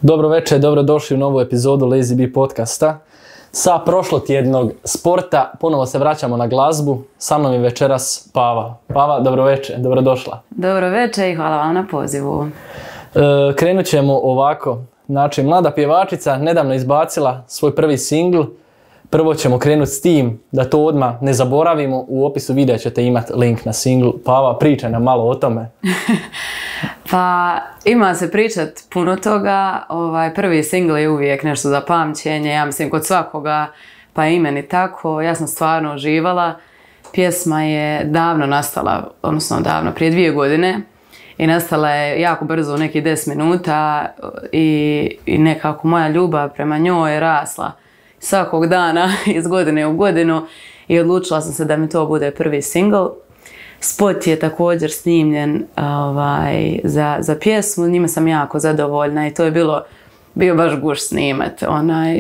Dobro večer, dobrodošli u novu epizodu Lazy Bee podcasta. Sa prošlotjednog sporta ponovo se vraćamo na glazbu. Sa mnom je večeras Pava. Pava, dobro večer, dobrodošla. Dobro večer i hvala vam na pozivu. Krenut ćemo ovako. Znači, mlada pjevačica nedavno izbacila svoj prvi singl. Prvo ćemo krenuti s tim da to odmah ne zaboravimo. U opisu videa ćete imati link na singl. Pava, pričaj nam malo o tome. Pa ima se pričat puno toga. Prvi singl je uvijek nešto za pamćenje. Ja mislim kod svakoga, pa i meni tako. Ja sam stvarno uživala. Pjesma je davno nastala, odnosno davno, prije 2 godine. I nastala je jako brzo, u nekih 10 minuta. I nekako moja ljubav prema njoj je rasla svakog dana, iz godine u godinu. I odlučila sam se da mi to bude prvi singl. Spot je također snimljen za pjesmu, njima sam jako zadovoljna i to je bio baš gušt snimat.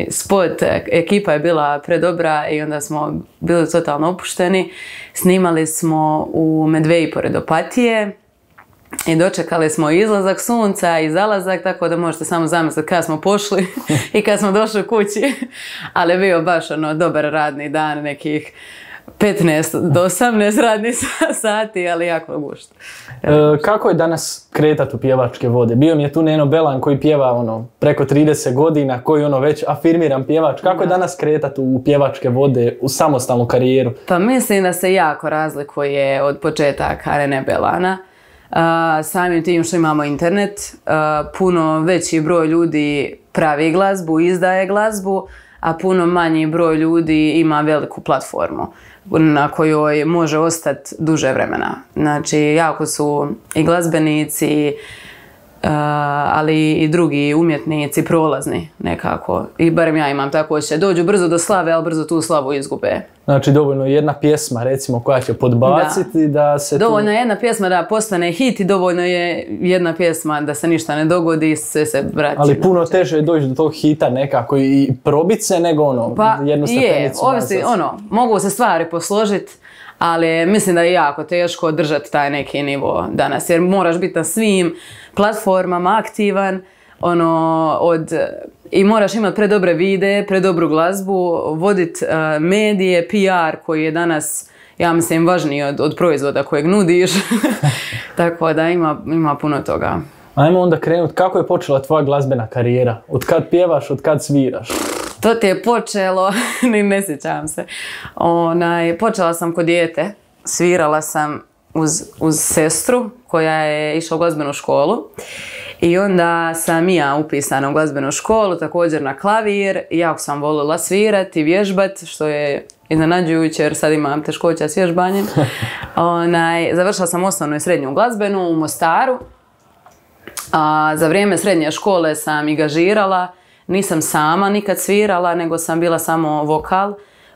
Spot, ekipa je bila predobra i onda smo bili totalno opušteni. Snimali smo u Medveji pored Opatije i dočekali smo izlazak sunca i zalazak, tako da možete samo zamisliti kada smo pošli i kada smo došli kući. Ali je bio baš dobar radni dan, nekih 15 do 18 radnih sati, ali jako gušt. Kako je danas kretat u pjevačke vode? Bio mi je tu Neno Belan koji pjeva preko 30 godina, koji već afirmiran pjevač. Kako je danas kretat u pjevačke vode, u samostalnu karijeru? Pa mislim da se jako razlikuje od početaka Nene Belana. Samim tim što imamo internet, puno veći broj ljudi pravi glazbu, izdaje glazbu, a puno manji broj ljudi ima veliku platformu na kojoj može ostati duže vremena. Znači, jako su i glazbenici, ali i drugi umjetnici prolazni nekako. I barem ja imam tako osjećaj. Dođu brzo do slave, ali brzo tu slavu izgube. Znači, dovoljno je jedna pjesma, recimo, koja će podbaciti da se dovoljno je jedna pjesma da postane hit i dovoljno je jedna pjesma da se ništa ne dogodi i sve se vraća. Ali puno teže je doći do tog hita nekako i probit se nego jednu stepenicu. Mogu se stvari posložiti, ali mislim da je jako teško držati taj neki nivo danas, jer moraš biti na svim platformama aktivan, i moraš imati predobre videe, predobru glazbu, voditi medije, PR koji je danas, ja mislim, važniji od proizvoda kojeg nudiš. Tako da ima puno toga. Ajmo onda krenuti, kako je počela tvoja glazbena karijera? Od kad pjevaš, od kad sviraš? To ti je počelo, ne sjećam se. Počela sam kod dijete, svirala sam uz sestru koja je išla u glazbenu školu. I onda sam i ja upisana u glazbenu školu, također na klavir. Jako sam voljela svirati i vježbati, što je iznenađujuće jer sad imam teškoća s vježbanjem. Završila sam osnovnu i srednju glazbenu u Mostaru. Za vrijeme srednje škole sam i gažirala. Nisam sama nikad svirala, nego sam bila samo vokal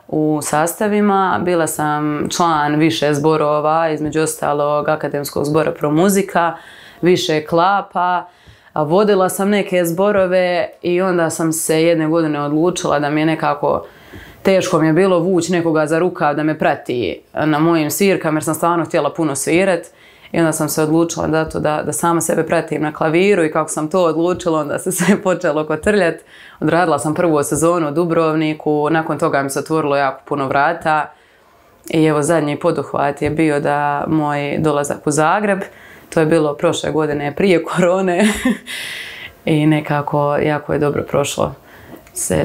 u sastavima. Bila sam član više zborova, između ostalog Akademskog zbora Pro Muzika, više klapa. Vodila sam neke zborove i onda sam se jedne godine odlučila da mi je nekako teško mi je bilo vući nekoga za rukav da me prati na mojim svirkama jer sam stvarno htjela puno svirati. I onda sam se odlučila da sama sebe pratim na klaviru i kako sam to odlučila, onda se sve počelo kotrljati. Odradila sam prvu sezonu u Dubrovniku, nakon toga mi se otvorilo jako puno vrata. I evo zadnji poduhvat je bio da moj dolazak u Zagreb, to je bilo prošle godine prije korone i nekako jako je dobro prošlo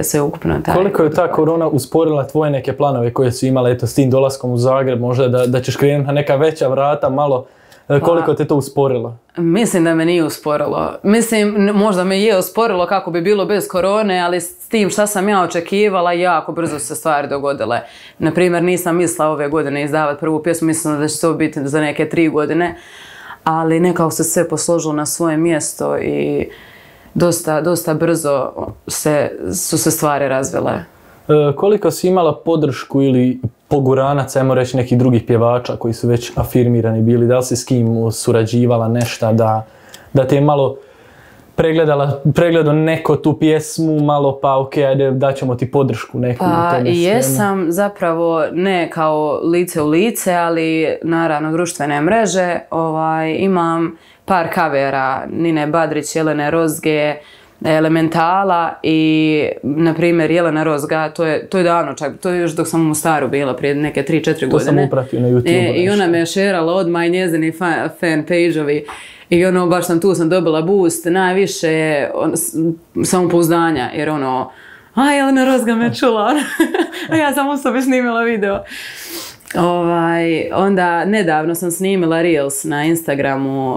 sve ukupno. Koliko je ta korona usporila tvoje neke planove koje su imale s tim dolaskom u Zagreb, možda da ćeš krenuti na neka veća vrata malo? Koliko te to usporilo? Mislim da me nije usporilo. Mislim, možda me je usporilo kako bi bilo bez korone, ali s tim šta sam ja očekivala, jako brzo se stvari dogodile. Naprimjer, nisam mislila ove godine izdavati prvu pjesmu, mislila da će to biti za neke 3 godine, ali nekako se sve posložilo na svoje mjesto i dosta brzo su se stvari razvile. Koliko si imala podršku ili poguranac, ajmo reći, nekih drugih pjevača koji su već afirmirani bili? Da li si s kim surađivala nešto da te je malo pregledao neko tu pjesmu, malo pa ok, ajde daćemo ti podršku neku u tome svemu? Jesam, zapravo ne kao lice u lice, ali naravno društvene mreže. Imam par kavera Nine Badrić, Jelene Rozge, Elementala i, na primjer, Jelena Rozga, to je davno čak, to je još dok sam u Mostaru bila prije neke 3-4 godine. To sam upratio na YouTube. I ona me je šerala odmah i njezini fan page-ovi. I baš sam dobila boost, najviše samopouzdanja, jer Jelena Rozga me čula, a ja sam u sobi snimila video. Onda nedavno sam snimila Reels na Instagramu,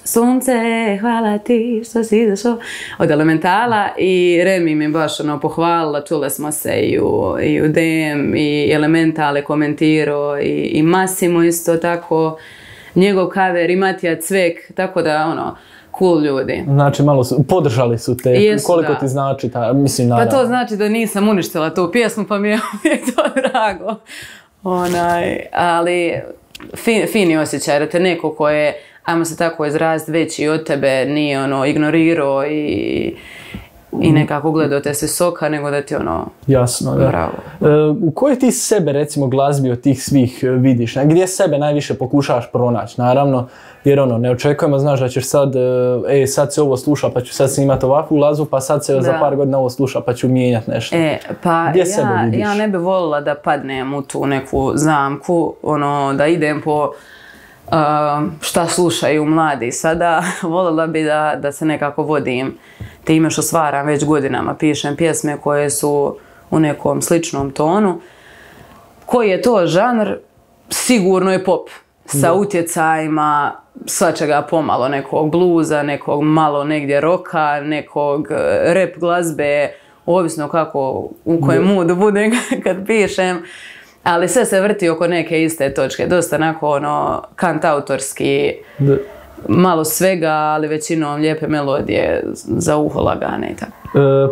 Sunce, hvala ti što si izašao, od Elementala, i Remi mi baš pohvalila, čule smo se i u DM, i Elemental je komentirao, i Massimo isto tako, njegov cover, i Matija Cvek, tako da cool ljudi. Znači malo podržali su te, jesu, koliko ti znači mislim naravno. Pa to znači da nisam uništila tu pjesmu, pa mi je uvijek to drago. Ali fini osjećaj da te neko ko je, ajmo se tako izraziti, veći od tebe nije ignorirao i nekako gledao te se soka, nego da ti jasno, da. Bravo. U kojoj ti sebe, recimo, glazbi od tih svih vidiš? Gdje sebe najviše pokušavaš pronaći? Naravno, jer ne očekujemo, znaš da ćeš sad sad se ovo sluša pa ću sad snimati ovakvu glazbu, pa sad se za par godina ovo sluša pa ću mijenjati nešto. Pa gdje sebe vidiš? Ja ne bi volila da padnem u tu neku zamku, da idem po šta slušaju mladi sada. Voljela bi da se nekako vodim time što stvaram već godinama, pišem pjesme koje su u nekom sličnom tonu. Koji je to žanr? Sigurno je pop, sa utjecajima svačega pomalo, nekog bluza, nekog malo negdje roka, nekog rap glazbe, ovisno kako, u kojem moodu budem kad pišem. Ali sve se vrti oko neke iste točke, dosta onako kantautorski, malo svega, ali većinom lijepe melodije za uho lagane i tako.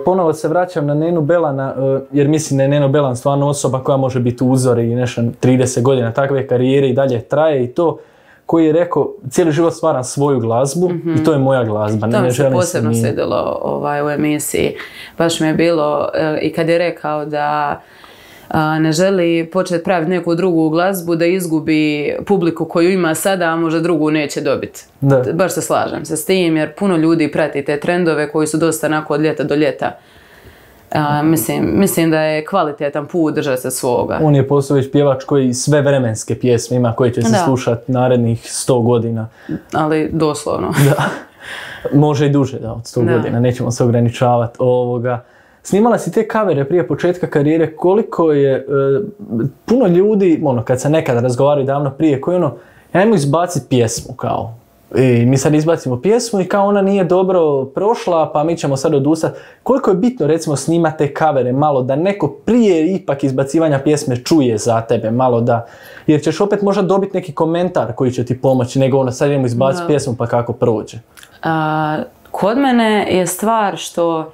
Ponovo se vraćam na Nenu Belana, jer mislim da je Neno Belan stvarno osoba koja može biti uzor i nešto 30 godina takve karijere i dalje traje, i to koji je rekao cijeli život stvaram svoju glazbu i to je moja glazba. To mi se posebno svidjelo u emisiji. Baš mi je bilo i kad je rekao da ne želi početi praviti neku drugu glazbu da izgubi publiku koju ima sada, a možda drugu neće dobiti. Baš se slažem se s tim, jer puno ljudi prati te trendove koji su dosta onako od ljeta do ljeta. Mislim da je kvalitetan put držati se svoga. On je postao već pjevač koji sve vremenske pjesme ima koje će se slušati narednih 100 godina. Ali doslovno. Da. Može i duže, od 100 godina, nećemo se ograničavati. Snimala si te kavere prije početka karijere, koliko je puno ljudi, kad se nekada razgovaraju davno prije, koji ajmo izbaciti pjesmu kao. I mi sad izbacimo pjesmu i kao ona nije dobro prošla, pa mi ćemo sad odustati. Koliko je bitno, recimo, snimati te kavere malo da neko prije ipak izbacivanja pjesme čuje za tebe, malo da, jer ćeš opet možda dobiti neki komentar koji će ti pomoći, nego sad idemo izbaciti pjesmu pa kako prođe. Kod mene je stvar što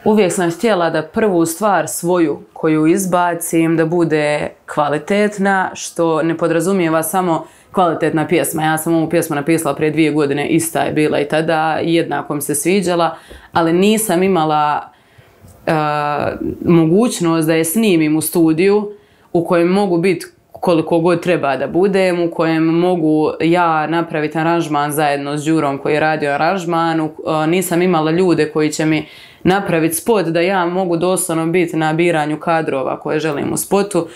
uvijek sam htjela da prvu stvar svoju koju izbacim da bude kvalitetna, što ne podrazumijeva samo kvalitetna pjesma. Ja sam ovu pjesmu napisala prije 2 godine, ista je bila i tada, jednako mi se sviđala, ali nisam imala mogućnost da je snimim u studiju u kojem mogu biti koliko god treba da budem, u kojem mogu ja napraviti aranžman zajedno s Đurom koji je radio aranžman. Nisam imala ljude koji će mi napraviti spot da ja mogu doslovno biti na biranju kadrova koje želim u spotu.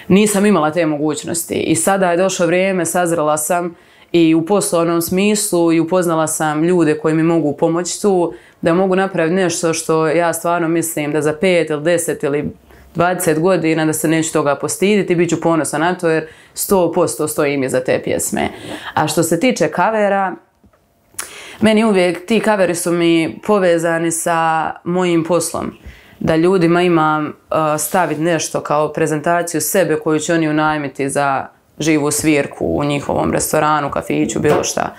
Nisam imala te mogućnosti i sada je došlo vrijeme, sazrela sam i u poslovnom smislu i upoznala sam ljude koji mi mogu pomoći tu, da mogu napraviti nešto što ja stvarno mislim da za 5 ili 10 ili 20 godina da se neću toga postiditi, bit ću ponosna na to jer 100% stojim iza te pjesme. A što se tiče kavera, meni uvijek ti kaveri su mi povezani sa mojim poslom. Da ljudima imam staviti nešto kao prezentaciju sebe koju će oni unajmiti za živu svirku u njihovom restoranu, kafiću, bilo šta.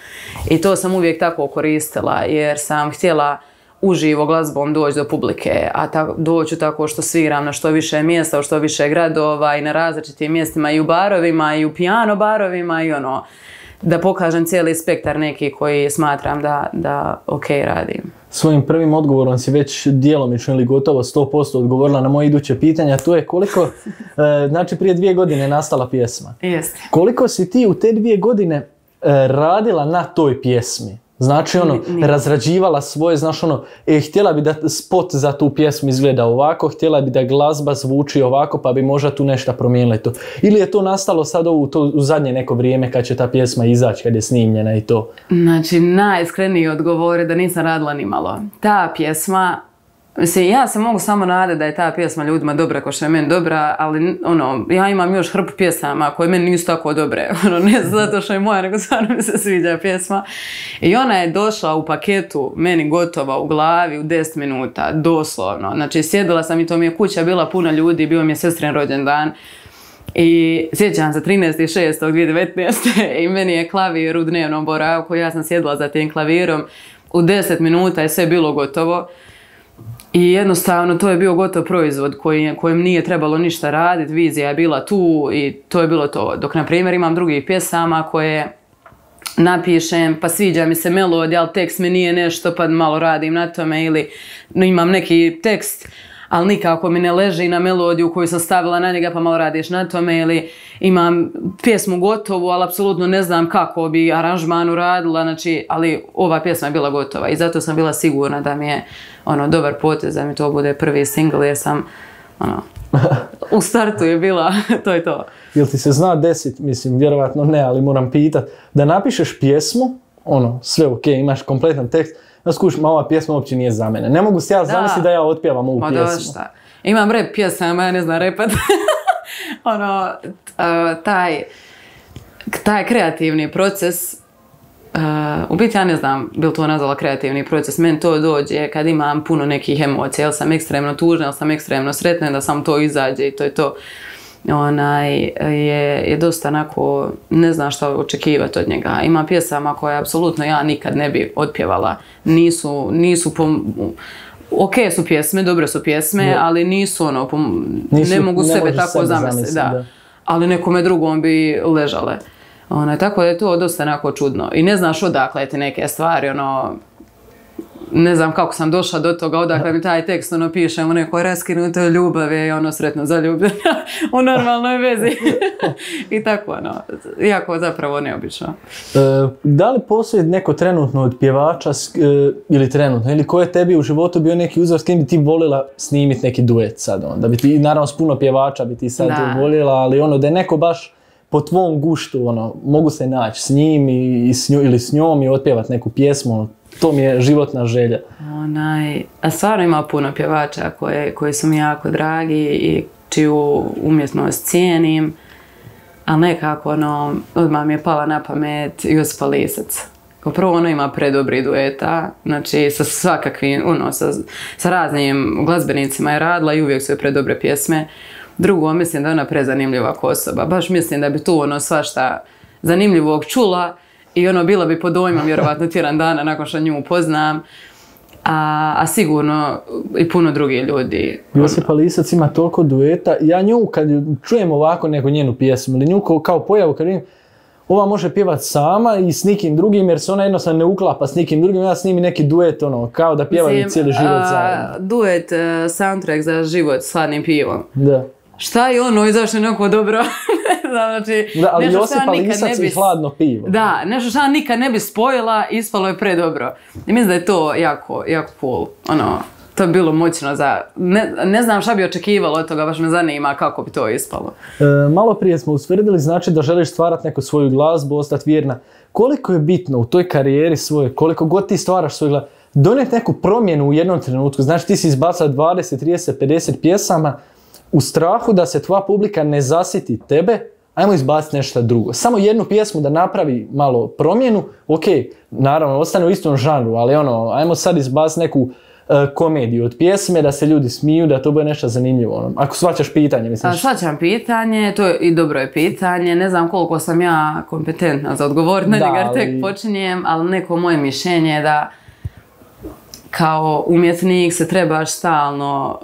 I to sam uvijek tako koristila jer sam htjela uživo glazbom doći do publike, a doću tako što sviram na što više mjesta, u što više gradova i na različitim mjestima i u barovima i u piano barovima i da pokažem cijeli spektar neki koji smatram da ok radim. Svojim prvim odgovorom si već djelomično ili gotovo 100% odgovorila na moje iduće pitanja, to je koliko, znači prije 2 godine nastala pjesma. Jeste. Koliko si ti u te 2 godine radila na toj pjesmi? Znači ono, razrađivala svoje, znaš ono, htjela bi da spot za tu pjesmu izgleda ovako, htjela bi da glazba zvuči ovako, pa bi možda tu nešto promijenila i to. Ili je to nastalo sad u zadnje neko vrijeme kad će ta pjesma izaći, kad je snimljena i to? Znači, najiskreniji odgovor je da nisam radila ni malo. Ta pjesma, mislim, ja se mogu samo nadati da je ta pjesma ljudima dobra kao što je meni dobra, ali ono, ja imam još hrpu pjesama koje meni nisu tako dobre. Ono, ne zato što je moja, nego stvarno mi se sviđa pjesma. I ona je došla u paketu, meni gotova u glavi u 10 minuta, doslovno. Znači, sjedila sam i to mi je kuća bila puna ljudi, bio mi je sestrin rođendan. I sjećam se 13.6.2019. i meni je klavir u dnevnom boravku, ja sam sjedila za tim klavirom, u 10 minuta je sve bilo gotovo. I jednostavno to je bio gotov proizvod kojem nije trebalo ništa raditi, vizija je bila tu i to je bilo to. Dok, na primjer, imam drugih pjesama koje napišem, pa sviđa mi se melodija, ali tekst mi nije nešto, pa malo radim na tome, ili imam neki tekst, ali nikako mi ne leži na melodiju koju sam stavila na njega, pa malo radiš na tome, ili imam pjesmu gotovu, ali apsolutno ne znam kako bi aranžman uradila, znači, ali ova pjesma je bila gotova i zato sam bila sigurna da mi je ono, dobar potez, da mi to bude prvi single, jer sam ono, u startu je bila, to je to. Jel ti se zna desit, mislim, vjerovatno ne, ali moram pitat, da napišeš pjesmu, ono, sve ok, imaš kompletan tekst, da skuš, ma ova pjesma uopće nije za mene. Ne mogu se ja zamisliti da ja otpjevam ovu pjesmu. Došta. Imam rap pjesama, ja ne znam repat. Ono, taj kreativni proces, u biti ja ne znam bi li to nazvala kreativni proces, meni to dođe kad imam puno nekih emocija, jel sam ekstremno tužna, jel sam ekstremno sretna, da sam to izađe i to je to. Je dosta onako, ne znam šta očekivati od njega. Ima pjesama koje apsolutno ja nikad ne bi otpjevala. Ok su pjesme, dobre su pjesme, ali nisu ono, ne mogu sebe tako zamisliti. Da. Ali nekome drugom bi ležale. Tako da je to dosta onako čudno. I ne znaš odakle ti neke stvari, ono, ne znam kako sam došla do toga, odakle mi taj tekst ono pišem u nekoj raskinutoj ljubavi i ono sretno zaljubljena u normalnoj vezi. I tako ono, jako zapravo neobično. Da li postoji neko trenutno od pjevača ili ko je tebi u životu bio neki uzor s kim bi ti volila snimiti neki duet sad? Da bi ti, naravno s puno pjevača bi ti sad voljela, ali ono da je neko baš po tvom guštu, ono, mogu se naći s njim ili s njom i otpjevati neku pjesmu, ono, to mi je životna želja. A stvarno ima puno pjevača koji su mi jako dragi i čiju umjetnost cijenim, ali nekako ono, odmah mi je pala na pamet Josipa Lisac. Kao prvo, ono ima predobri dueta, znači sa svakakvim, ono, sa raznim glazbenicima je radila i uvijek su je predobre pjesme. Drugo, mislim da je ona prezanimljiva osoba, baš mislim da bi tu ono svašta zanimljivog čula. I ono, bila bi pod dojmom vjerovatno tjedan dana nakon što nju upoznam. A sigurno i puno drugih ljudi. Josipa Lisac ima toliko dueta. Ja nju kad čujem ovako neku njenu pjesmu ili nju kao pojavu kad vidim, ova može pjevati sama i s nikim drugim jer se ona jednostavno ne uklapa s nikim drugim. Ja snimi neki duet ono, kao da pjevaju cijeli život zajedno. Duet, soundtrack za život s hladnim pivom. Da. Šta je ono i zašto je neko dobro? Znači, da, ali Josipa Lisac i hladno pivo. Da, nešto što ja nikad ne bi spojila, ispalo je predobro. I mislim da je to jako, jako cool. Ono, to je bilo moćno za... Ne znam šta bi očekivalo od toga, baš me zanima kako bi to ispalo. Malo prije smo ustvrdili, znači da želiš stvarati neku svoju glazbu, ostati vjerna. Koliko je bitno u toj karijeri svoje, koliko god ti stvaraš svoju glazbu, donijeti neku promjenu u jednom trenutku. Znači ti si izbacao 20, 30, 50 pjesama, u strahu da se tvoja publika ne zasiti tebe, ajmo izbaciti nešto drugo. Samo jednu pjesmu da napravi malo promjenu, ok, naravno, ostane u istom žanru, ali ono, ajmo sad izbaciti neku komediju od pjesme, da se ljudi smiju, da to bude nešto zanimljivo. Ono. Ako shvaćaš pitanje, misliš? Shvaćam pitanje, to je i dobro je pitanje, ne znam koliko sam ja kompetentna za odgovoriti na njega, jer tek počinjem, ali neko moje mišljenje je da kao umjetnik se trebaš stalno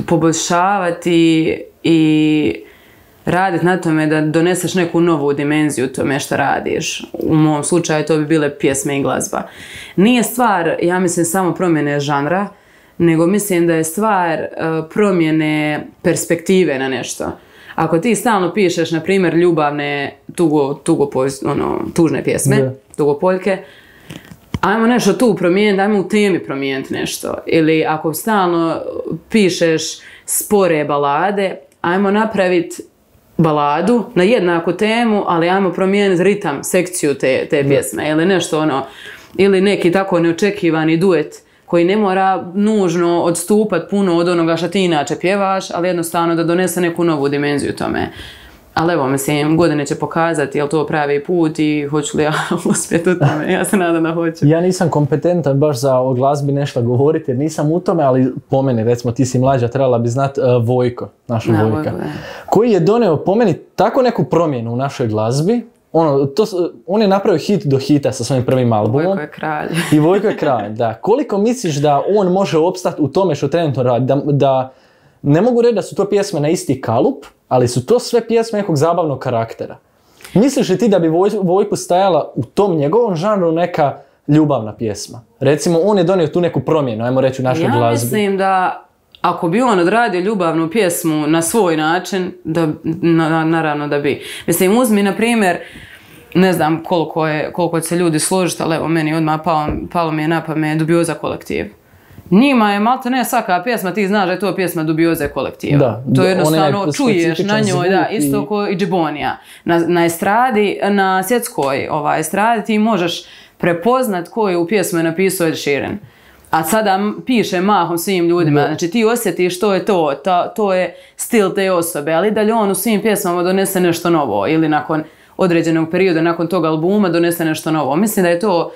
poboljšavati i raditi na tome da doneseš neku novu dimenziju tome što radiš. U mom slučaju to bi bile pjesme i glazba. Nije stvar, ja mislim, samo promjene žanra, nego mislim da je stvar promjene perspektive na nešto. ako ti stalno pišeš, na primjer, ljubavne, tužne pjesme, tugopoljke, ajmo nešto tu promijeniti, ajmo u temi promijeniti nešto. Ili ako stalno pišeš spore balade, ajmo napraviti baladu na jednaku temu, ali ajmo promijeniti ritam, sekciju te pjesme. Ili nešto ili neki tako neočekivani duet koji ne mora nužno odstupati puno od onoga što ti inače pjevaš, ali jednostavno da donese neku novu dimenziju tome. Ali evo, mislim, godine će pokazati je li to pravi put i hoću li ja uspjeti u tome. Ja se nadam da hoću. Ja nisam kompetentan baš za o glazbi nešto govoriti jer nisam u tome, ali po meni, recimo ti si mlađa, trebala bi znati Vojko, naša Vojka, koji je donio po meni tako neku promjenu u našoj glazbi. On je napravio hit do hita sa svojim prvim albumom. Vojko je kralj. I Vojko je kralj, da. Koliko misliš da on može opstati u tome što trenutno radi? Da ne mogu reći da su to pjesme na isti kalup, ali su to sve pjesme nekog zabavnog karaktera. Misliš li ti da bi Vojku stajala u tom njegovom žanru neka ljubavna pjesma? Recimo, on je donio tu neku promjenu, ajmo reći, u našoj glazbi. Ja mislim da ako bi on odradio ljubavnu pjesmu na svoj način, naravno da bi. Mislim, uzmi, na primjer, ne znam koliko će se ljudi složiti, ali evo, meni odmah palo mi je na pamet Dubioza kolektiv. Njima je malte ne svaka pjesma, ti znaš da je to pjesma Dubioze kolektiva. Da, to jednostavno čuješ na njoj, da, isto kao i Džibonija. Na estradi, na svjetskoj estradi ti možeš prepoznat ko je u pjesmu napisao Ed Sheeran. A sada piše mahom svim ljudima, znači ti osjetiš što je to je stil te osobe, ali dalje on u svim pjesmama donese nešto novo ili nakon određenog perioda, nakon tog albuma donese nešto novo. Mislim da je to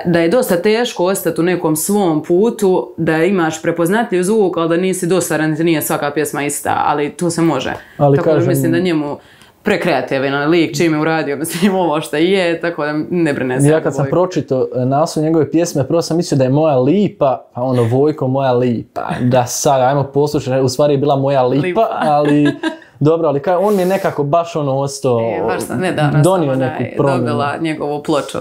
da je dosta teško ostati u nekom svom putu, da imaš prepoznatljiv zvuk, ali da nisi dosadan, nije svaka pjesma ista, ali to se može. Ali tako da mislim da njemu prekreativan lik čim je uradio, mislim ovo što je, tako da ne brine se. Ja kad sam pročitao naslov njegove pjesme, prvo sam mislio da je Moja lipa, pa Vojko Moja lipa, da sad, ajmo poslušati, u stvari je bila Moja lipa, ali dobro, ali on mi je nekako baš ostao, donio neku promjenu. Dobila njegovu ploču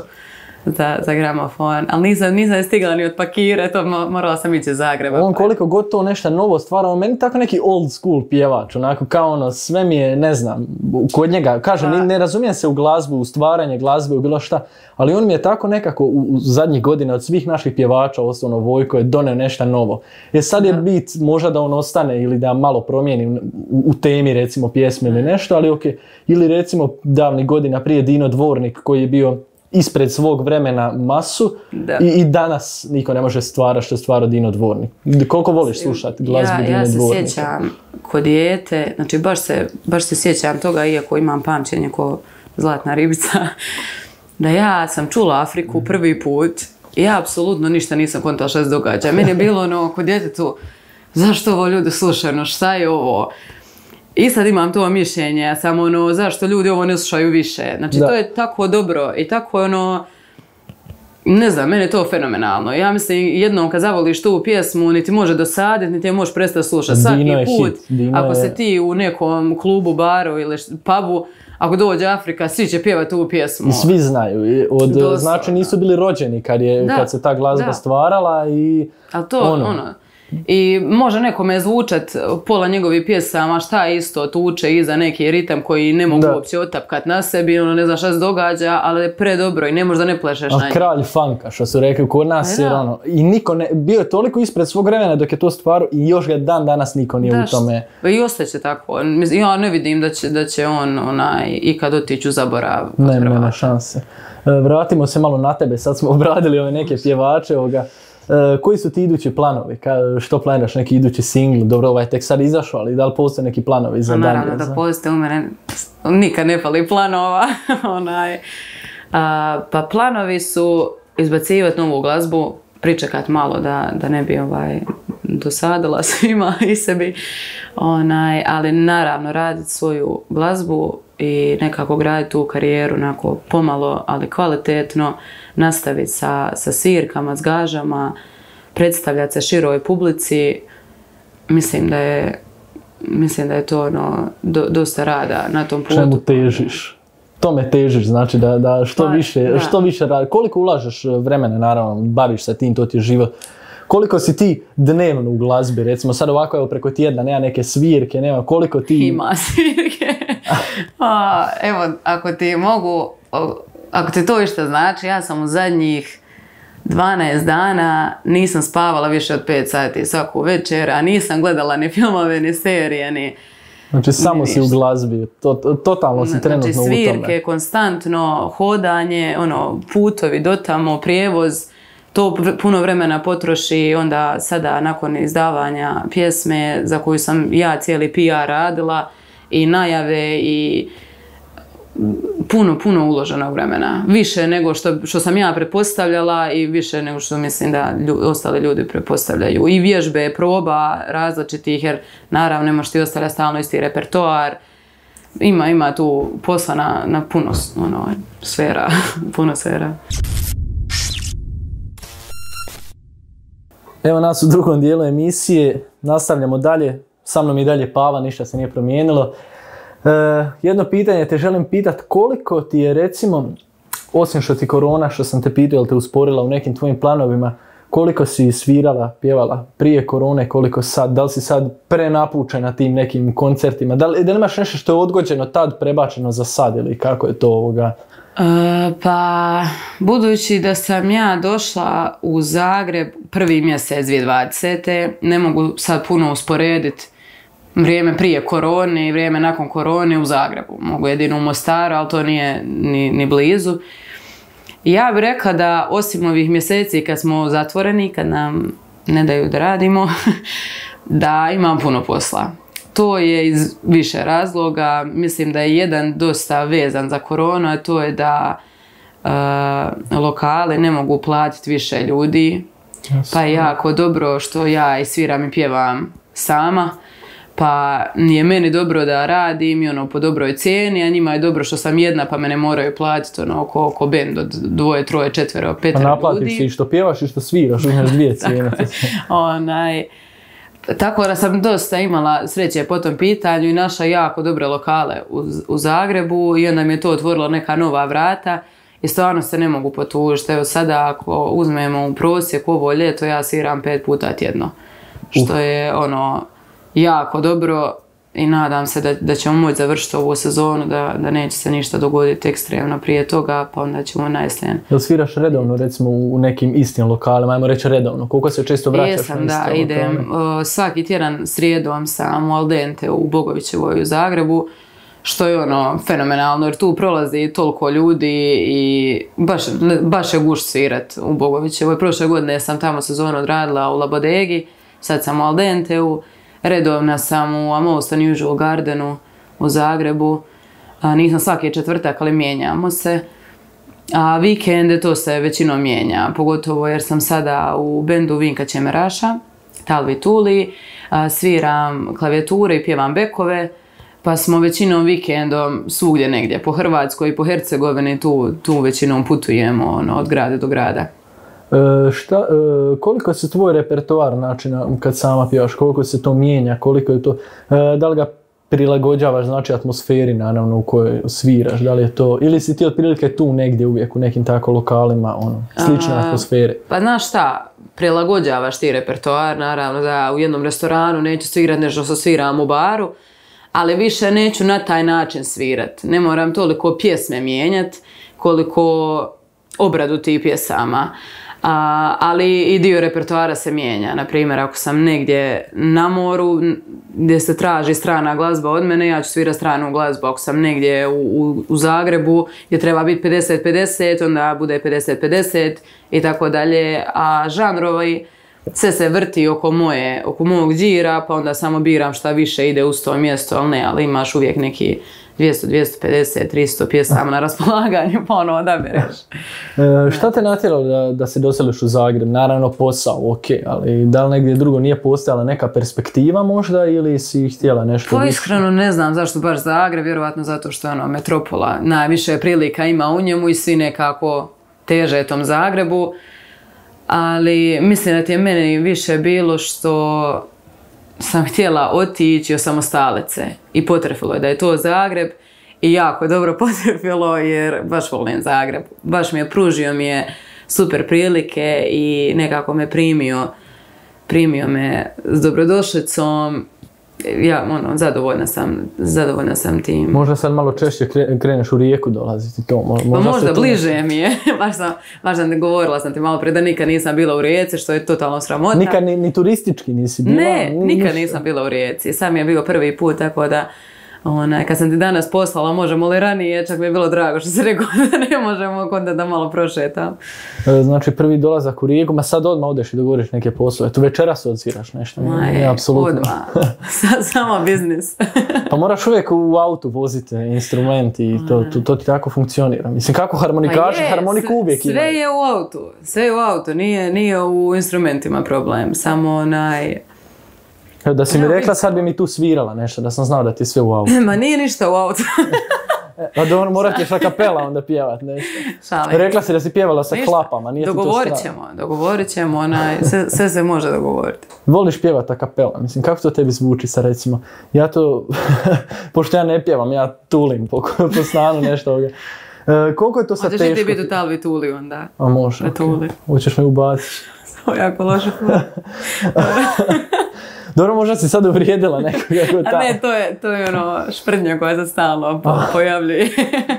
za gramofon, ali nisam stigla ni otpakirati, morala sam ići iz Zagreba. On koliko god to nešto novo stvara, on meni tako neki old school pjevač, onako kao sve mi je, ne znam, kod njega, kažem, ne razumijem se u glazbu, u stvaranje glazbe, u bilo šta, ali on mi je tako nekako u zadnjih godina od svih naših pjevača, osnovno Vojko je doneo nešto novo. Jer sad je bit možda da on ostane ili da malo promijeni u temi recimo pjesme ili nešto, ali ok, ili recimo davnih godina prije Dino Dvornik koji je bio ispred svog vremena masu i danas niko ne može stvarati što je stvarao Dino Dvornik. Koliko voliš slušati glazbu Dino Dvornika? Ja se sjećam kod dijete, znači baš se sjećam toga, iako imam pamćenje ko zlatna ribica, da ja sam čula Afriku prvi put i ja apsolutno ništa nisam kontala što se događa. Meni je bilo kod djetetu, zašto ovo ljudi slušaju, šta je ovo? I sad imam to mišljenje, samo zašto ljudi ovo ne slušaju više. Znači to je tako dobro i tako ne znam, meni je to fenomenalno. Ja mislim, jednom kad zavoliš tu pjesmu, niti može dosaditi, niti je možeš prestati slušati. Svaki put, ako se ti u nekom klubu, baru ili pubu, ako dođe Afrika, svi će pjevati tu pjesmu. I svi znaju. Znači nisu bili rođeni kad se ta glazba stvarala i ali to i može nekome zvučat pola njegovih pjesama šta isto tuče iza neki ritam koji ne mogu uopće otapkat na sebi, ne znam šta se događa, ali je predobro i ne možda ne plešeš na njih. Kralj funka, što su rekli kod nas, jer i niko ne, bio je toliko ispred svog vremena dok je to stvarao i još ga dan danas niko nije u tome. I ostaće tako. Ja ne vidim da će on ikad otići u zaborav. Nema šanse. Vratimo se malo na tebe, sad smo obradili ove neke pjevače koji su ti idući planovi? Što planiraš, neki idući singl? Dobro, ovaj tek sad izašao, ali da li postoje neki planovi za dalje? Naravno da postoje, u mene nikad ne fali planova. Pa planovi su izbacivati novu glazbu, pričekati malo da ne bi dosadila svima i sebi, ali naravno raditi svoju glazbu i nekako graditi tu karijeru onako pomalo, ali kvalitetno, nastaviti sa svirkama, s gažama, predstavljati se široj publici. Mislim da je to dosta rada na tom putu. Čemu težiš? Tome težiš, znači da što više radi. Koliko ulažeš vremena, naravno, baviš se tim, to ti je život. Koliko si ti dnevno u glazbi, recimo sad ovako evo preko tjedna, nema neke svirke, nema koliko ti... Ima svirke. Evo, ako ti to išta znači, ja sam u zadnjih 12 dana nisam spavala više od 5 sati svaku večer, a nisam gledala ni filmove, ni serije, ni... Znači samo si u glazbi, totalno si trenutno u tome. Znači svirke, konstantno, hodanje, putovi do tamo, prijevoz, to puno vremena potroši, onda sada nakon izdavanja pjesme za koju sam ja cijeli PR radila i najave i puno uloženog vremena. Više nego što sam ja pretpostavljala i više nego što mislim da ostali ljudi pretpostavljaju. I vježbe, proba različitih, jer naravno ne možeš ti ostavljati stalno isti repertoar. Ima tu posla na puno sfera, puno sfera. Evo nas u drugom dijelu emisije, nastavljamo dalje, sa mnom i dalje Pava, ništa se nije promijenilo. Jedno pitanje te želim pitat, koliko ti je recimo, osim što ti korona, što sam te pitao, jel te usporila u nekim tvojim planovima, koliko si svirala, pjevala prije korone, koliko sad, da li si sad prenapučena tim nekim koncertima, da li imaš nešto što je odgođeno tad, prebačeno za sad ili kako je to ovoga? Pa, budući da sam ja došla u Zagreb prvi mjesec 2020. Ne mogu sad puno usporediti vrijeme prije korone i vrijeme nakon korone u Zagrebu. Mogu jedino u Mostaru, ali to nije ni blizu. Ja bih rekla da osim ovih mjeseci kad smo zatvoreni, kad nam ne daju da radimo, da imam puno posla. To je iz više razloga. Mislim da je jedan dosta vezan za koronu, a to je da lokale ne mogu platiti više ljudi. Pa je jako dobro što ja i sviram i pjevam sama. Pa nije meni dobro da radim i po dobroj cijeni, a njima je dobro što sam jedna pa me ne moraju platiti oko bend od 2, 3, 4, 5 ljudi. Pa naplatiš si i što pjevaš i što sviraš, imaš 2 cijene. Tako da sam dosta imala sreće po tom pitanju i našla jako dobre lokale u Zagrebu i onda mi je to otvorilo neka nova vrata i stvarno se ne mogu potužiti. Evo sada ako uzmemo u prosjeku ovo ljeto ja sviram 5 puta tjedno, što je jako dobro i nadam se da ćemo moći završiti ovu sezonu, da neće se ništa dogoditi ekstremno prije toga, pa onda ćemo najsljen. Jel sviraš redovno recimo u nekim istim lokalima, ajmo reći redovno, koliko se često vraćaš na iste lokale? Jesam, da, idem svaki tjedan srijedom sam u Al Dente u Bogovićevoj u Zagrebu, što je fenomenalno jer tu prolazi toliko ljudi i baš je gušt svirat u Bogovićevoj. Prošle godine sam tamo sezonu odradila u Labodegi, sad sam u Al Denteu. Redovna sam u A Most Unusual Gardenu u Zagrebu. Nisam svaki četvrtak, ali mijenjamo se. A vikende to se većinom mijenja, pogotovo jer sam sada u bendu Vinka Čemeraša, Talvi Tuli, sviram klavijature i pjevam bekove, pa smo većinom vikendom svugdje negdje, po Hrvatskoj i po Hercegovini, tu većinom putujemo od grada do grada. Koliko se tvoj repertoar načina kad sama pjevaš, koliko se to mijenja, koliko je to, da li ga prilagođavaš znači atmosferi naravno u kojoj sviraš, da li je to, ili si ti otprilike tu negdje uvijek u nekim tako lokalima, slične atmosfere? Pa znaš šta, prilagođavaš ti repertoar, naravno da u jednom restoranu neću svirati nešto što sviram u baru, ali više neću na taj način svirati. Ne moram toliko pjesme mijenjati koliko obradu tih pjesama. Ali i dio repertoara se mijenja. Naprimjer, ako sam negdje na moru gdje se traži strana glazba od mene, ja ću svirati stranu glazbu. Ako sam negdje u Zagrebu gdje treba biti 50-50, onda bude 50-50 i tako dalje. A žanrovi sve se vrti oko mog đira, pa onda samo biram šta više ide uz to mjesto, ali imaš uvijek neki 200, 250, 300 pjesama na raspolaganju, pa odabereš. Šta te natjeralo da se doseliš u Zagreb? Naravno posao, ok, ali da li negdje drugo nije postojala neka perspektiva možda ili si htjela nešto više? Iskreno ne znam zašto baš Zagreb, vjerovatno zato što je metropola. Najviše prilika ima u njemu i svi nekako teže tom Zagrebu. Ali mislim da ti je meni više bilo što sam htjela otići osamostaliti i potrefilo je da je to Zagreb i jako dobro potrefilo jer baš volim Zagreb. Baš pružio mi je super prilike i nekako me primio primio me s dobrodošlicom. Ja, zadovoljna sam tim. Možda sad malo češće kreneš u Rijeku dolaziti to. Možda bliže mi je. Baš sam govorila sam ti malo prije da nikad nisam bila u Rijeci, što je totalno sramota. Nikad ni turistički nisi bila? Ne, nikad nisam bila u Rijeci. Sam je bio prvi put, tako da kad sam ti danas poslala možemo li ranije, čak mi je bilo drago što si rekao da ne možemo, onda da malo prošetam. Znači prvi dolazak u Rijeku, ma sad odmah odeš i dogovoriš neke poslove. Tu večeras odsviraš nešto. Odmah. Samo biznis. Pa moraš uvijek u autu voziti instrument i to ti tako funkcionira. Mislim, kako harmonikaši, harmoniku uvijek imaju. Sve je u autu, nije u instrumentima problem, samo Da si mi rekla, sad bi mi tu svirala nešto, da sam znao da ti je sve u autu. Ma nije ništa u autu. A dobro, morat ćeš a kapela onda pjevat nešto. Šalim. Rekla si da si pjevala sa klapama, nije ti to Dogovorit ćemo, sve se može dogovoriti. Voliš pjevat a kapela, mislim, kako to tebi zvuči sad recimo? Ja to, pošto ja ne pjevam, ja tulim po stanu nešto ovoga. Koliko je to sad teško? Hoćeš ti biti u talvi tuli onda? A može, okej. Hoćeš me ubaciti. Ovo je jako loše. Dobro, možda si sad uvrijedila nekoga. A ne, to je šprdnja koja se stalno pojavljuje.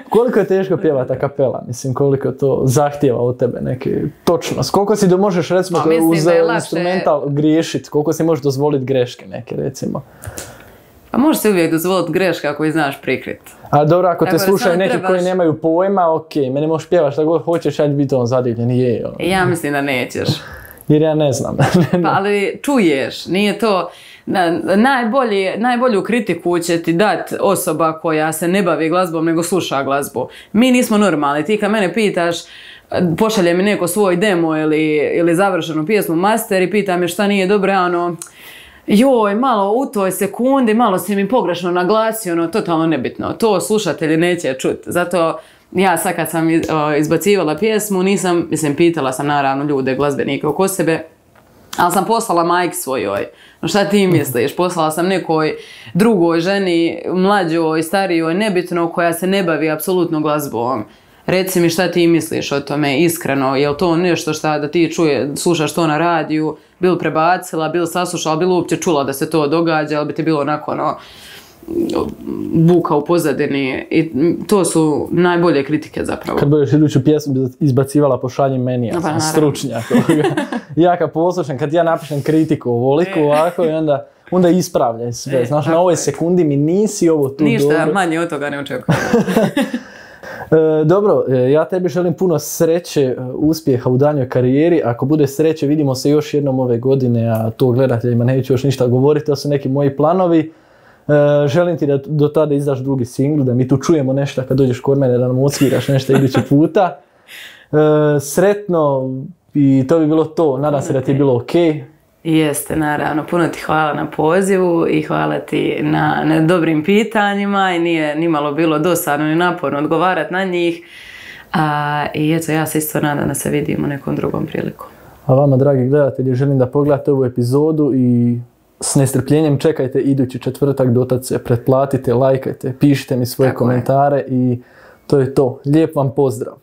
Koliko je teško pjevati a kapela? Mislim, koliko to zahtijeva od tebe neke točnost? Koliko si možeš recimo uz instrumental griješiti? Koliko si možeš dozvoliti greške neke recimo? Pa možeš se uvijek dozvoliti greške ako ih znaš prikriti. A dobro, ako te slušaju neki koji nemaju pojma, okej, meni možeš pjevaš šta god hoćeš, ja ću biti zadivljen. Ja mislim da nećeš. Jer ja ne znam. Pa ali čuješ, nije to... Najbolju kritiku će ti dati osoba koja se ne bavi glazbom nego sluša glazbu. Mi nismo normalni. Ti kad mene pitaš, pošalje mi neko svoj demo ili završenu pjesmu master i pita me šta nije dobro, joj, malo u toj sekundi, malo si mi pogrešno naglasio, totalno nebitno. To slušatelji neće čuti. Zato ja sad kad sam izbacivala pjesmu, pitala sam naravno ljude, glazbenike oko sebe, ali sam poslala majki svojoj. Šta ti misliš? Poslala sam nekoj drugoj ženi, mlađoj, starijoj, nebitno, koja se ne bavi apsolutno glazbom. Reci mi šta ti misliš o tome, iskreno, je li to nešto šta da ti slušaš to na radiju, bil prebacila, bil saslušala, bil uopće čula da se to događa, ali bi ti bilo onako buka u pozadini i to su najbolje kritike zapravo. Kad budeš iduću pjesmu izbacivala pošalji meni, ja sam stručnjak. Ja kad poslušam, kad ja napišem kritiku ovoliku ovako i onda ispravljaj sve. Znaš, na ovoj sekundi mi nisi ovo tu dobro. Ništa manje od toga ne očekujem. Dobro, ja tebi želim puno sreće, uspjeha u daljnjoj karijeri. Ako bude sreće, vidimo se još jednom ove godine, a to gledateljima neću još ništa govoriti, to su neki moji planovi. Želim ti da do tada izdaš drugi singl, da mi tu čujemo nešto kad dođeš kod mene, da nam odsviraš nešto idući puta. Sretno i to bi bilo to. Nadam se da ti je bilo okej. Jeste, naravno. Puno ti hvala na pozivu i hvala ti na dobrim pitanjima i nije nimalo bilo dosadno ni naporno odgovarati na njih. I eto, ja se isto nadam da se vidimo nekom drugom prilikom. A vama, dragi gledatelji, želim da pogledate ovu epizodu i s nestrpljenjem čekajte idući četvrtak, dotad se pretplatite, lajkajte, pišite mi svoje komentare i to je to. Lijep vam pozdrav!